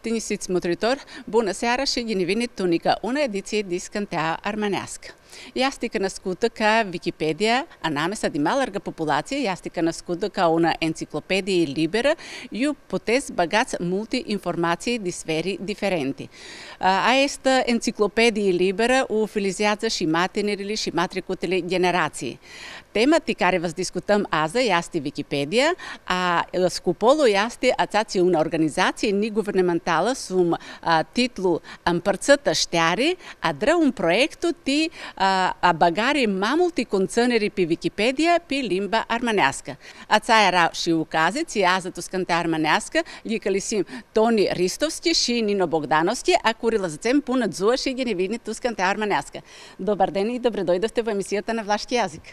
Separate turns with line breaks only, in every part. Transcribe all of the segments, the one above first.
Tinisic motritor, bună seara și bine tunica, una ediție discantea armanească. Јастика наскута ка Википедија, а намеса ди маларга популација, јастика наскута ка una енциклопедија libera, ju potez bagați multi informații di sferi differenti. A esta enciclopedија libera utilizează și matineri și matricutele generații. Tema ti care vas discutăm azi este Wikipedia, a scopul este aceea una organizație neguvernamentală sum titlu Împărțită știare, a dra un proiect ti a bagare mai multe conțineri pe Wikipedia pe limba armanească. Aceea era și ukaze, ți azi tu scânte armanească, licălisim Toni Ristovski și Nino Bogdanovski, a curila zăcem până zuă și genevini tu scânte armanească. Dobar den и добре дојдовте во емисијата на влашки јазик.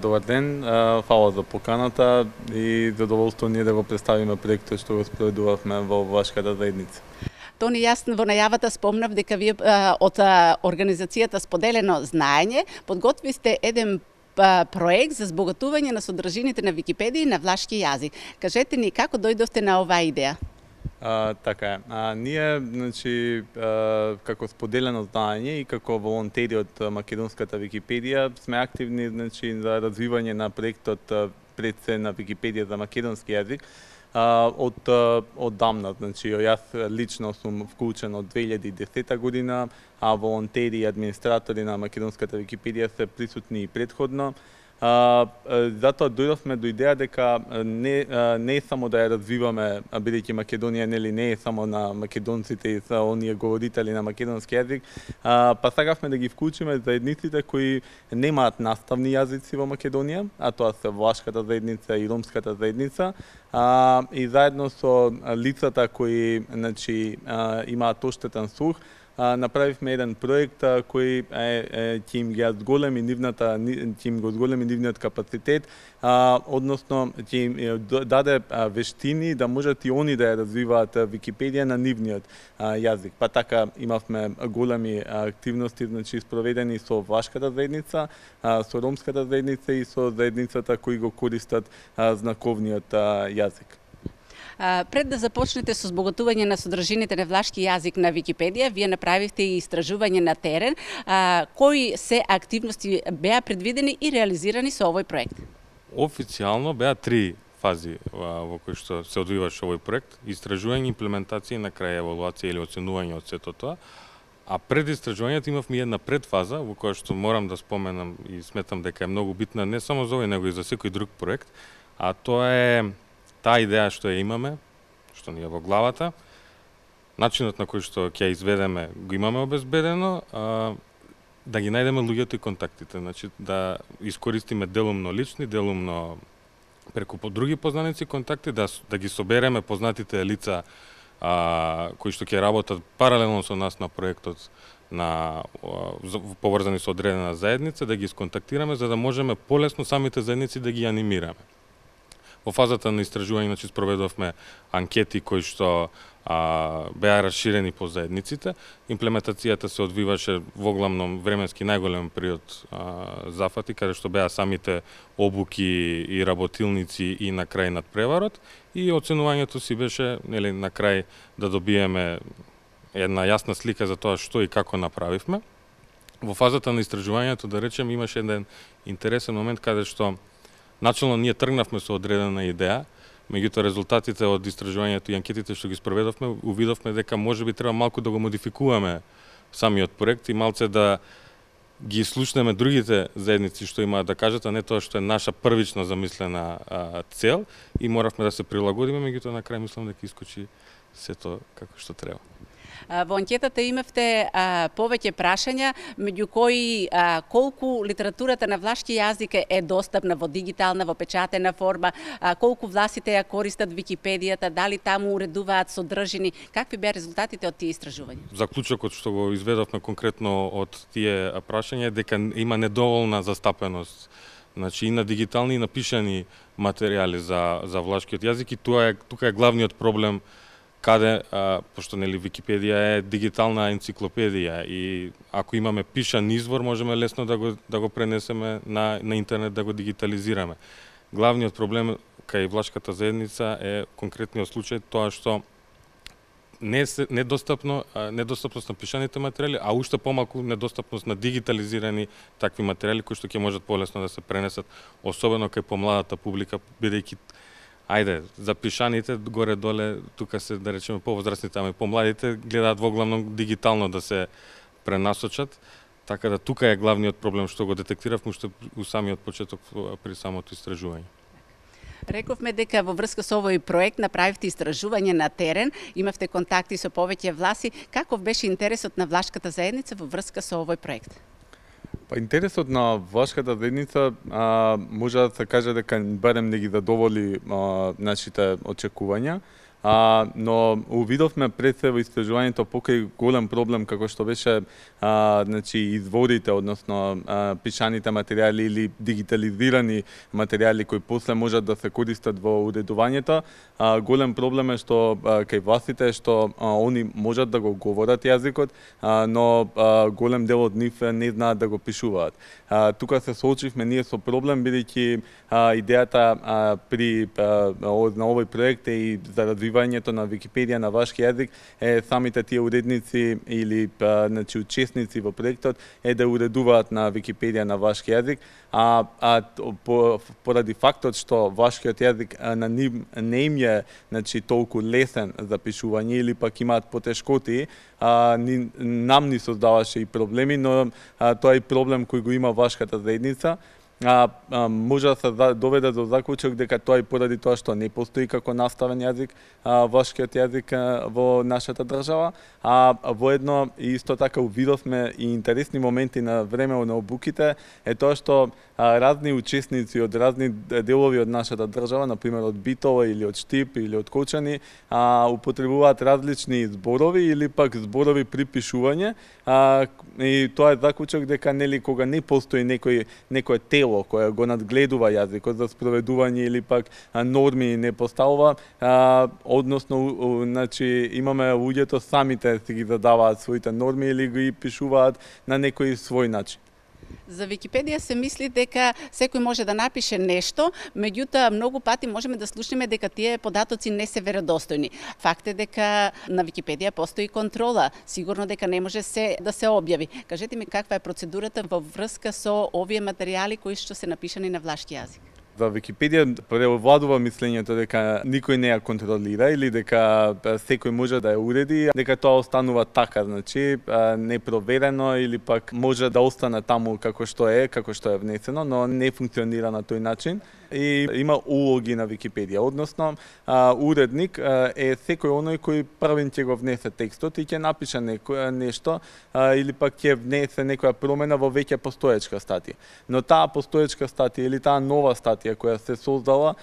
Добар ден, фала за поканата и задоволство ние да го представиме проектот што го спроведувавме во Влашката заедница.
Тони, јас во најавата спомнав дека вие од организацијата Споделено знаење подготвисте еден проект за збогатување на содржините на Википедија на влашки јазик. Кажете ни како дојдовте на оваа идеја?
Така е. Ние, значи, како споделено знаење и како волонтери од македонската Википедија сме активни, значи, за развивање на проектот пред се на Википедија за македонски јазик од дамна. Значи, јас лично сум вклучен од 2010 година, а волонтери и администратори на македонската Википедија се присутни и предходно. Затоа дојдовме до идеја дека не само да ја развиваме, бидејќи Македонија нели не е само на македонците и за оние говорители на македонски јазик, па сакавме да ги вклучиме заедниците кои немаат наставни јазици во Македонија, а тоа се влашката заедница и ромската заедница, и заедно со лицата кои, значи, имаат оштетен слух, направивме еден проект кој ќе им го зголеми нивниот капацитет, односно ќе им даде вештини да можат и они да ја развиваат Википедија на нивниот јазик. Па така имавме големи активности, значи спроведени со влашката заедница, со ромската заедница и со заедницата кои го користат знаковниот јазик.
Пред да започнете со збогатување на содржините на влашки јазик на Википедија, вие направивте и истражување на терен. Кои се активности беа предвидени и реализирани со овој проект?
Официјално беа 3 фази во кои што се одвиваше овој проект: истражување, имплементација и на крај евалуација или оценување од сето тоа. А пред истражувањето имавме една предфаза во која што морам да споменам и сметам дека е многу битна не само за овој, него и за секој друг проект, а тоа е таа идеја што ја имаме, што ни е во главата, начинот на кој што ќе ја изведеме го имаме обезбедено, да ги најдеме луѓето и контактите, значи да искористиме делумно лични, делумно преку други познаници контакти, да ги собереме познатите лица кои што ќе работат паралелно со нас на проектот поврзани со одредена заедница, да ги сконтактираме за да можеме полесно самите заедници да ги анимираме. Во фазата на истражување, значи, спроведовме анкети кои што беа расширени по заедниците. Имплементацијата се одвиваше во главном временски најголем период зафати, каде што беа самите обуки и работилници и на крај надпреварот. И оценувањето си беше, нели, на крај да добиеме една јасна слика за тоа што и како направивме. Во фазата на истражувањето, да речем, имаше еден интересен момент каде што начално ние тргнавме со одредена идеја, меѓутоа резултатите од истражувањето и анкетите што ги спроведовме, увидовме дека можеби треба малку да го модификуваме самиот проект и малце да ги слушнеме другите заедници што имаат да кажат, а не тоа што е наша првично замислена цел, и моравме да се прилагодиме, меѓутоа на крај мислам дека искочи сето како што треба.
Во анкетата имавте повеќе прашања, меѓу кои колку литературата на влашки јазик е достапна во дигитална, во печатена форма, колку власите ја користат Википедијата, дали таму уредуваат содржини, какви беа резултатите од тие истражувања?
Заклучокот што го изведовме конкретно од тие прашања е дека има недоволна застапеност, значи, и на дигитални и на пишани материјали за влашкиот јазик, и тука е главниот проблем, каде, пошто нели Википедија е дигитална енциклопедија и ако имаме пишан извор, можеме лесно да го пренесеме на интернет, да го дигитализираме. Главниот проблем кај влашката заедница е конкретниот случај тоа што недостапност на пишаните материјали, а уште помалку недостапност на дигитализирани такви материјали кои што ќе можат полесно да се пренесат, особено кај помладата публика, бидејќи за пишаните горе-доле, тука се, да речеме, повозрастните, ама и помладите гледаат воглавно дигитално да се пренасочат, така да тука е главниот проблем што го детектиравме уште у самиот почеток при самото истражување.
Рековме дека во врска со овој проект направивте истражување на терен, имавте контакти со повеќе власти. Каков беше интересот на влашката заедница во врска со овој проект?
Па интересот на влашката заедница може да се каже дека барем не ги задоволи нашите очекувања. Но увидовме пред се во истражувањето покрај голем проблем како што беше изворите, односно пишаните материјали или дигитализирани материјали кои после можат да се користат во уредувањето. Голем проблем е што кај властите што они можат да го говорат јазикот, но голем дел од нив не знаат да го пишуваат. Тука се соочивме ние со проблем бидејќи идејата на овој проект е и за развивањето на Википедија на вашки јазик е самите тие уредници или учесници во проектот е да уредуваат на Википедија на вашки јазик, поради фактот што вашкиот јазик на нив не им е толку лесен за пишување или пак имаат потешкоти, нам ни создаваше и проблеми, но тоа е проблем кој го има вашката заедница. Може да се доведе до заклучок дека тоа и поради тоа што не постои како наставен јазик вашкиот јазик во нашата држава, воедно исто така увидовме и интересни моменти на време на обуките е тоа што разни учесници од разни делови од нашата држава, например од Битола или од Штип или од Кочани, употребуваат различни зборови или пак зборови при пишување, и тоа е заклучок дека нели кога не постои некое тело кое го надгледува јазикот за спроведување или пак норми не поставува, односно имаме луѓето самите си ги задаваат своите норми или ги пишуваат на некој свој начин.
За Википедија се мисли дека секој може да напише нешто, меѓутоа многу пати можеме да слушнеме дека тие податоци не се веродостојни. Факт е дека на Википедија постои контрола, сигурно дека не може се да се објави. Кажете ми каква е процедурата во врска со овие материјали кои што се напишани на влашки јазик?
За Википедија превладува мислењето дека никој не ја контролира или дека секој може да ја уреди, дека тоа останува така, непроверено или пак може да остане таму како што е внесено, но не функционира на тој начин. И има улоги на Википедија, односно уредник е секој оној кој првен ќе го внесе текстот и ќе напише нешто или пак ќе внесе некоја промена во веќе постоечка статија. Но таа постоечка статија или таа нова статија која се создала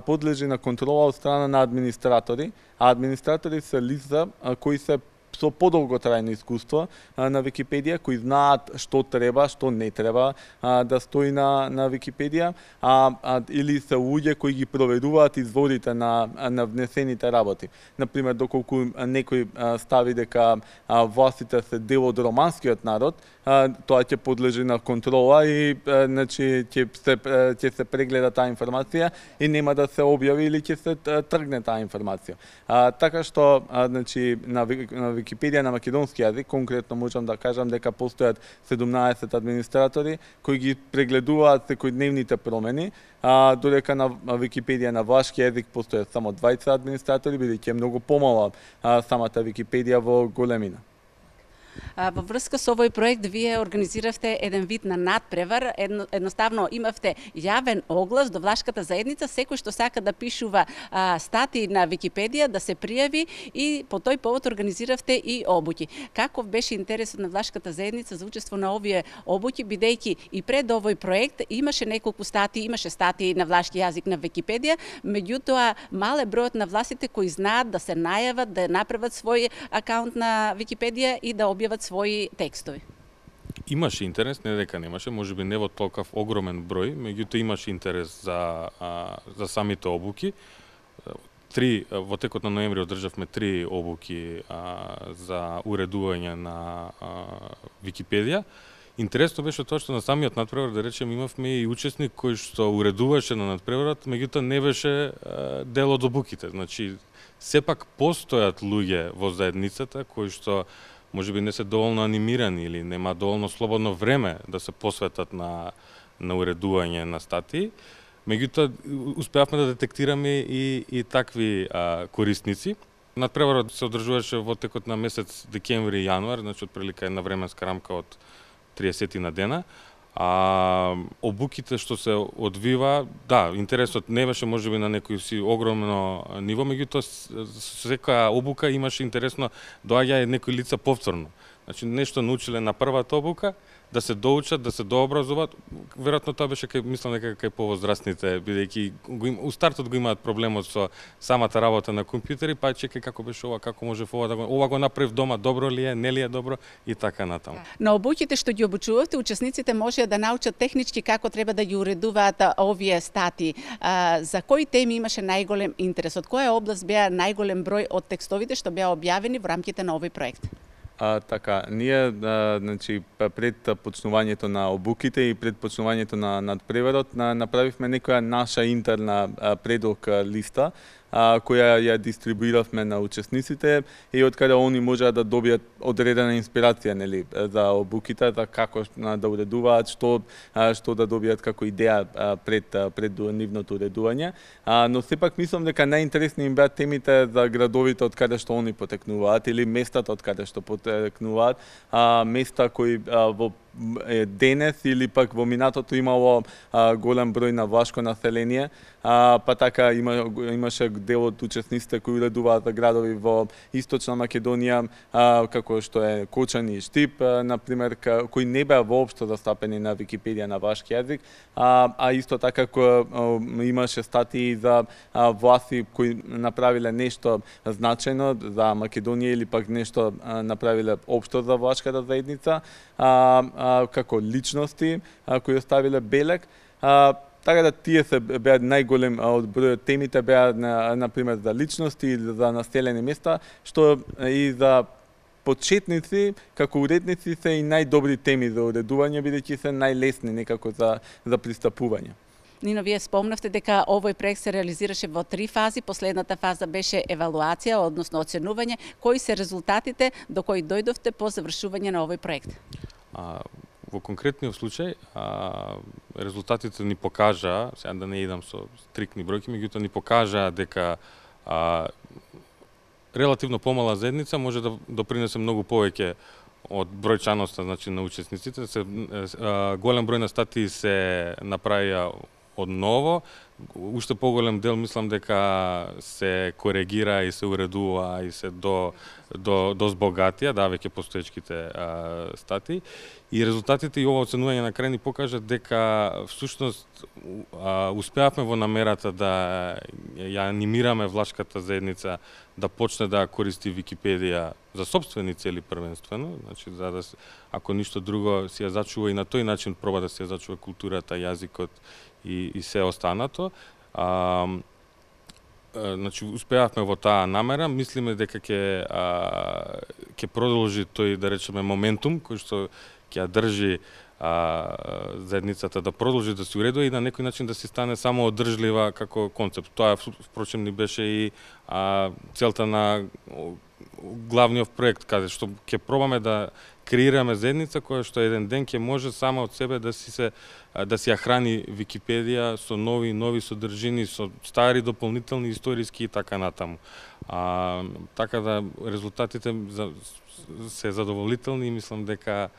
подлежи на контрола од страна на администратори, а администратори се лица кои се со подолготрајно искуство на Википедија, кои знаат што треба, што не треба да стои на Википедија, или се луѓе кои ги проверуваат изворите на внесените работи. Например, доколку некој стави дека властите се дел од романскиот народ, тоа ќе подлежи на контрола и ќе се прегледа таа информација и нема да се објави или ќе се тргне таа информација. Така што на Википедија на македонски јазик, конкретно можам да кажам дека постојат 17 администратори кои ги прегледуваат секојдневните промени, додека на Википедија на влашки јазик постојат само 20 администратори, бидејќи е многу помала самата Википедија во големина.
Во врска со овој проект вие организиравте еден вид на надпревар, едноставно имавте јавен оглас до влашката заедница, секој што сака да пишува статии на Википедија да се пријави и по тој повод организиравте и обуки. Каков беше интересот на влашката заедница за учество на овие обуки, бидејќи и пред овој проект имаше неколку статии, имаше статии на влашки јазик на Википедија, меѓутоа мал е бројот на властите кои знаат да се најават, да направат свој акаунт на Википедија и да објават своји текстови.
Имаше интерес, не дека немаше, можеби не во толков огромен број, меѓутоа имаше интерес за самите обуки. Во текот на ноември одржавме 3 обуки за уредување на Википедија Интересно беше тоа што на самиот надпревар, да речем, имавме и учесник кој што уредуваше на надпреварот, меѓутоа не беше дел од обуките. Значи, сепак постојат луѓе во заедницата кои што можеби не се доволно анимирани или нема доволно слободно време да се посветат на уредување на статии. Меѓутоа, успеавме да детектираме и такви корисници. Надпреварот се одржуваше во текот на месец декември и јануар, значи отприлика една временска рамка од 30 на дена. Обуките што се одвива, да, интересот не беше можеби на некој си огромно ниво, меѓутоа секоја обука имаше интересно, доаѓа некои лица повторно. Значи нешто научиле на првата обука, да се доучат, да се дообразуваат. Веројатно тоа беше мислам дека кај повозрастните, бидејќи у стартот го имаат проблемот со самата работа на компјутери, па чекај како беше ова, како можев ова го направив дома, добро ли е, не ли е добро и така натаму.
На обуќите што ги обучувавте, учесниците може да научат технички како треба да ги уредуваат овие статии. За кои теми имаше најголем интерес? Од која област беа најголем број од текстовите што беа објавени во рамките на овој проект?
Така, ние значи пред почнувањето на обуките и пред почнувањето на надпреварот направивме некоја наша интерна предок листа која ја дистрибуиравме на учесниците и од каде они можеа да добијат одредена инспирација, нели, за обуките, за како да уредуваат, што да добијат како идеја пред нивното уредување. Но сепак мислам дека најинтересни им беа темите за градовите од каде што они потекнуваат или местата од каде што потекнуваат, места кои во денес или пак во минатото имало голем број на влашко население, па така имаше дел од учесниците кои уредуваат за градови во Источна Македонија, како што е Кочани и Штип, например, кои не беа воопшто застапени на Википедија на влашки јазик, а исто така имаше статии за власти кои направиле нешто значајно за Македонија или пак нешто направиле општо за влашката заедница, како личности кои оставиле белег. Така да тие се беа најголем од бројот темите беа на пример за личности или за населени места, што и за почетници како уредници се и најдобри теми за уредување, бидејќи се најлесни некако за пристапување.
Нино, вие спомнавте дека овој проект се реализираше во 3 фази. Последната фаза беше евалуација, односно оценување. Кои се резултатите до кои дојдовте по завршување на овој проект?
Во конкретниот случај, резултатите ни покажаа, сега да не идам со стрикни бројки, меѓутоа ни покажаа дека релативно помала заедница може да допринесе многу повеќе од бројчаноста, значи, на учесниците. Голем број на статии се направија одново, уште поголем дел мислам дека се коригира и се уредува и се до збогатија, да, веќе постоечките статии. И резултатите и ова оценување на крај ни покажат дека всушност успеавме во намерата да ја анимираме влашката заедница да почне да користи Википедија за сопствени цели првенствено, значи за да ако ништо друго си ја зачува и на тој начин проба да си ја зачува културата, јазикот и се останато. Значи успеавме во таа намера, мислиме дека ќе продолжи тој, да речеме, моментум кој што ќе ја држи заедницата да продолжи да се уредува и на некој начин да се стане само одржлива како концепт. Тоа впрочем ни беше и целта на главниот проект, каде што ќе пробаме да креираме заедница која што еден ден ќе може сама од себе да си ја храни Википедија со нови содржини, со стари дополнителни историски и така натаму. Така да резултатите се задоволителни и мислам дека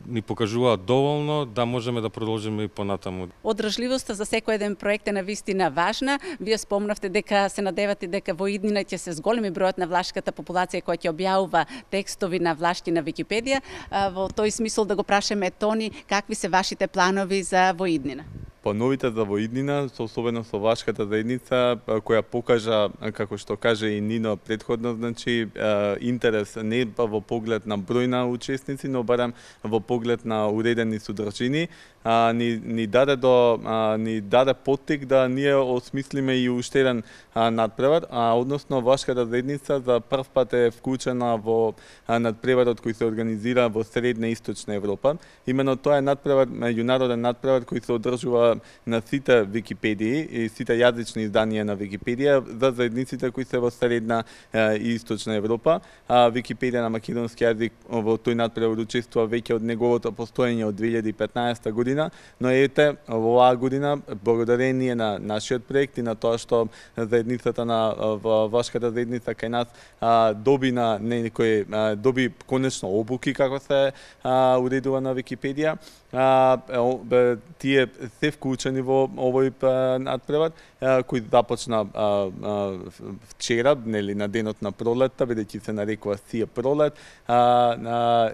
ни покажуваат доволно да можеме да продолжиме и понатаму.
Одржливоста за секој еден проект е навистина важна. Вие спомнавте дека се надевате дека во иднина ќе се зголеми бројот на влашката популација која ќе објавува текстови на влашки на Википедија. Во тој смисол да го прашаме Тони, какви се вашите планови за во иднина?
плановите за во иднина, особено со влашката заедница, која покажа, како што каже и Нино претходно, значи интерес не во поглед на број на учесници, но барем во поглед на уредени содржини, ни даде поттик да ние осмислиме и уште еден надпревар, односно влашката заедница за прв пат е вклучена во надпреварот кој се организира во Средна и Источна Европа. Именно тоа е надпревар, меѓународен надпревар кој се одржува на сите Википедии и сите јазични изданија на Википедија за заедниците кои се во Средна и Источна Европа. Википедија на македонски јазик во тој надпревар учествува веќе од неговото постоење од 2015 година, но ете во оваа година благодарение на нашиот проект и на тоа што заедницата на влашката заедница кај нас доби конечно обуки како се уредува на Википедија. Тие се вклучени во овој надпревар кој започна вчера, нели на денот на пролетта, бидејќи се нарекува Сија пролет,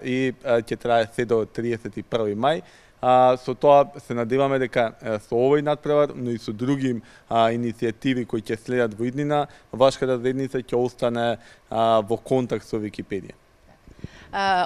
и ќе трае се до 31 мај. Со тоа се надеваме дека со овој надпревар, но и со други иницијативи кои ќе следат во иднина, влашката заедница ќе остане во контакт со Википедија.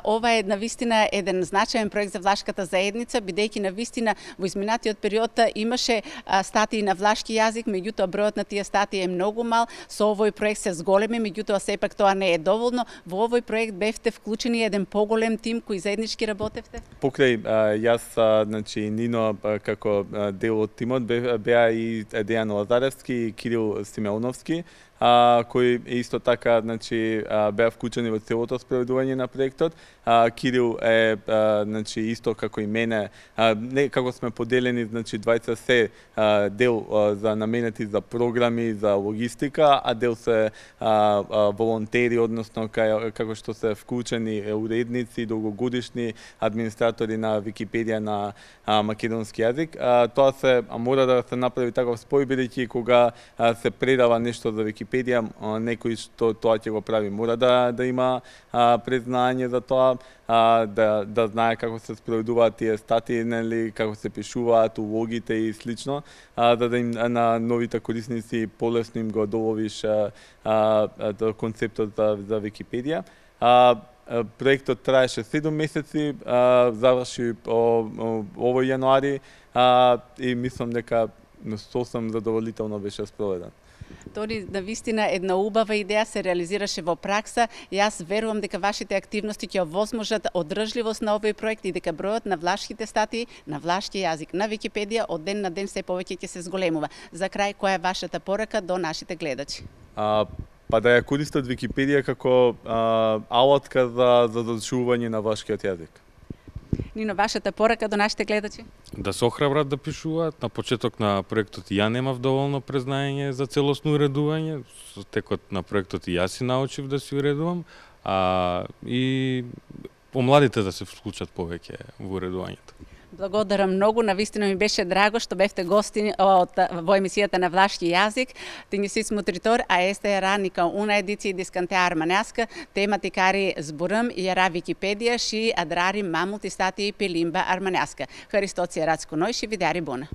Ова е навистина еден значаен проект за влашката заедница, бидејќи навистина во изминатиот период имаше статии на влашки јазик, меѓутоа бројот на тие статии е многу мал. Со овој проект се зголеми, меѓутоа сепак тоа не е доволно. Во овој проект бевте вклучени еден поголем тим кој заеднички работевте?
Покрај јас, значи Нино како дел од тимот беа и Дејан Лазаревски и Кирил Симеоновски, кои исто така, значи, беа вклучени во целото спроведување на проектот. Кирил е, значи, исто како и мене, не како сме поделени, значи, двајца се дел за наменети за програми, за логистика, а дел се волонтери, односно како што се вклучени уредници, долгогодишни администратори на Википедија на македонски јазик. Тоа се мора да се направи таков спој, бидејќи кога се предава нешто за Википедија, некој што тоа ќе го прави мора да има признање за тоа, да знае како се спроведуваат тие статии, нели, како се пишуваат улогите и слично, да им на новите корисници полесно им го доловиш концептот за Википедија. Проектот траеше 7 месеци, заврши овој јануари и мислам дека сосем задоволително беше спроведен.
Тони, навистина една убава идеја се реализираше во пракса. Јас верувам дека вашите активности ќе овозможат одржливост на овој проект и дека бројот на влашките статии на влашки јазик на Википедија од ден на ден се повеќе ќе се зголемува. За крај, која е вашата порака до нашите гледачи?
Па да ја користат Википедија како алатка за задушување на влашкиот јазик.
Нино, вашата порака до нашите гледачи?
Да се охрабрат да пишуваат. На почеток на проектот ја немав доволно признање за целосно уредување. Со текот на проектот и јас си научив да си уредувам. И помладите да се вклучат повеќе во уредувањето.
Благодарам многу, навистина ми беше драго што бевте гости во емисијата на влашки јазик. Тинји смотритор, а este era nica una ediție discantea armanească, tematicari zburăm era Wikipedia și adrarim mai multe statii pe limba armanească. Hristoți erați cu noi și videari bună!